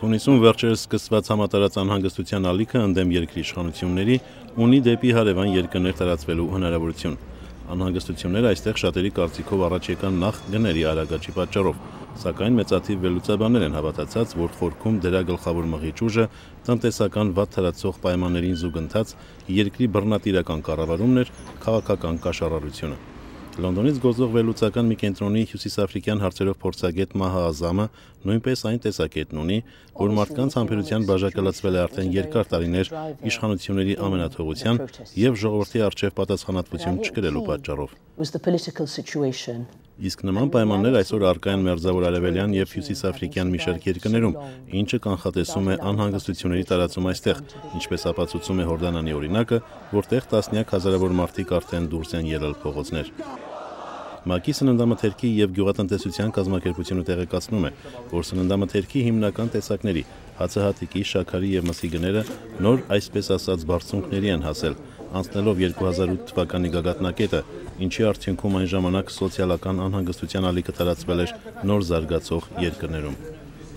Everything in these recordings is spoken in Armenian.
Թունիսում վերջերս սկսված համատարած անհանգստության ալիքը ընդդեմ երկրի իշխանությունների ունի դեպի հարևան երկրներ տարածվելու հնարավորություն։ Անհանգստությունները այստեղ շատերի կարծիքով առաջ եկան նախ գների արագ աճի պատճառով, սակայն մեծաթիվ վերլուծաբաններ են հավատացած, որ խորքում դրա գլխավոր մղիչ ուժը տնտեսական վատ թարացող պայմաններին զուգընթաց երկրի բռնատիրական կառավարումն էր, քաղաքական կաշառարությունը։ Լոնդոնից գործող վերլուծական մի կենտրոնի հյուսիսաֆրիկյան հարցերով փորձագետ Մահա Ազամը նույնպես այն տեսակետն ունի, որ մարդկանց համբերության բաժակը լցվել է արդեն երկար տարիներ իշխանությունների ամենաթողության եւ ժողովրդի առջեւ պատասխանատվություն չկրելու պատճառով։ Իսկ նման պայմաններ այսօր առկա են Մերձավոր Արևելյան եւ Հյուսիսաֆրիկյան մի շարք երկրներում, ինչը կանխատեսում է անհանգստությունների տարածում այստեղ, ինչպես ապացուցում է Հորդանանի օրինակը, որտեղ տասնյակ հազարավոր մարդիկ արդեն դուրս են ելել փողոցներ։ ՄԱԿ-ի սննդամթերքի եւ գյուղատնտեսության կազմակերպությունը տեղեկացնում է, որ սննդամթերքի հիմնական տեսակների հացահատիկի, շաքարի եւ մսի գները նոր, այսպես ասած, բարձունքների են հասել, անցնելով 2008 թվականի գագաթնակետը, ինչի արդյունքում այն ժամանակ սոցիալական անհանգստության ալիքը տարածվել էր նոր զարգացող երկրներում։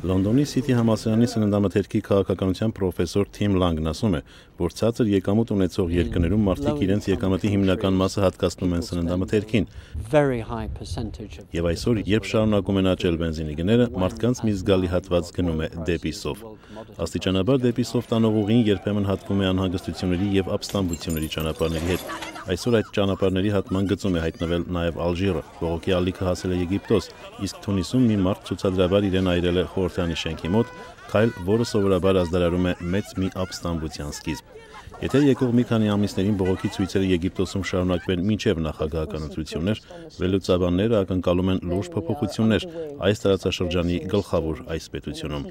Լոնդոնի Սիթի համալսարանի սննդամթերքի քաղաքականության պրոֆեսոր Թիմ Լանգն ասում է, որ ցածր եկամուտ ունեցող երկրներում մարդիկ իրենց եկամտի հիմնական մասը հատկացնում են սննդամթերքին։ Եվ այսօր, երբ շարունակում են աճել բենզինի գները, մարդկանց մի զգալի հատված գնում է դեպի սով։ Աստիճանաբար դեպի սով տանող ուղին երբեմն հատվում է անհանգստությունների եւ ապստամբությունների ճանապարհների հետ։ Այսօր այդ ճանապարհների հատման գծում է հայտնվել նաեւ Ալժիրը, բողոքի ալիքը հասել է Եգիպտոս, իսկ Թունիսում մի մարդ ցուցադրաբար իրեն այրել է խորհրդանի շենքի մոտ, քայլ, որը սովորաբար ազդարարում է մեծ մի ապստամբության սկիզբ։ Եթե եկող մի քանի ամիսներին բողոքի ցույցերը Եգիպտոսում շարունակվեն մինչև նախագահական ընտրություններ, վերլուծաբանները ակնկալում են լուրջ փոփոխություններ այս տարածաշրջանի գլխավոր այս պետությունում։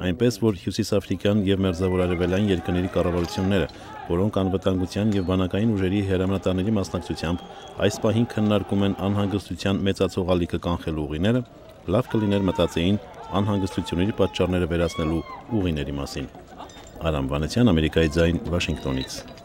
Այնպես որ հյուսիսաֆրիկյան եւ մերձավոր արևելյան երկրների կառավարությունները, որոնք անվտանգության եւ բանակային ուժերի հրամանատարների մասնակցությամբ այս պահին քննարկում են անհանգստության մեծացող ալիքը կանխելու ուղիները, լավ կլիներ մտածեին անհանգստությունների պատճառները վերացնելու ուղիների մասին։ Արամ Վանեցյան, Ամերիկայի ձայն, Վաշինգտոնից։